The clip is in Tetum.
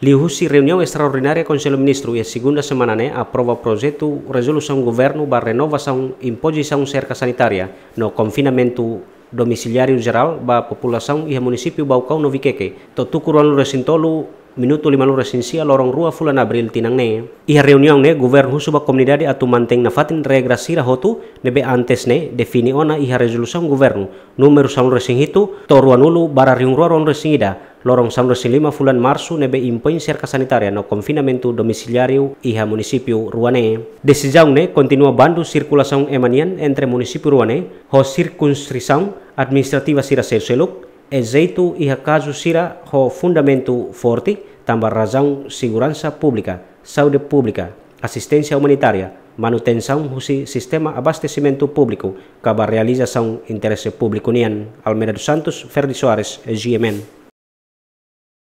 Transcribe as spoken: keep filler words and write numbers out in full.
Liuhusi reuniaun estraordinária Konsellu Ministru iha segunda semana ne'e aprova projetu rezolusaun governu ba renovasaun impozisaun serka sanitária no konfinamentu domiziliáriu jerál ba populasaun iha munisípiu Baucau no Viqueque, to'o tuku ruanulu resin tolu minutu limanulu resin sia loron rua fulan Abríl tinan ne'e. Iha reuniaun ne'e governu husu ba komunidade atu mantein nafatin regra sira hotu ne'ebé antes ne'e define ona iha rezolusaun governu númeru sanulu resin hitu to'o ruanulu barra rihun rua ruanulu resin ida, loron sanulu resin lima fulan Marsu ne'ebé impoin serka sanitária no konfinamentu domiziliáriu iha munisípiu rua ne'e. Desizaun ne'e kontinua bandu sirkulasaun ema nian entre munisípiu rua ne'e ho sirkunsrisaun administrativa sira seluk-seluk, ezeitu iha kazu sira ho fundamentu forte tanba razaun seguransa públika, saúde públika, asisténsia umanitária, manutensaun husi sistema abastesimentu públiku ka ba realizasaun interese públiku nian. Almeida dos Santos, Ferdi Soares, G M N.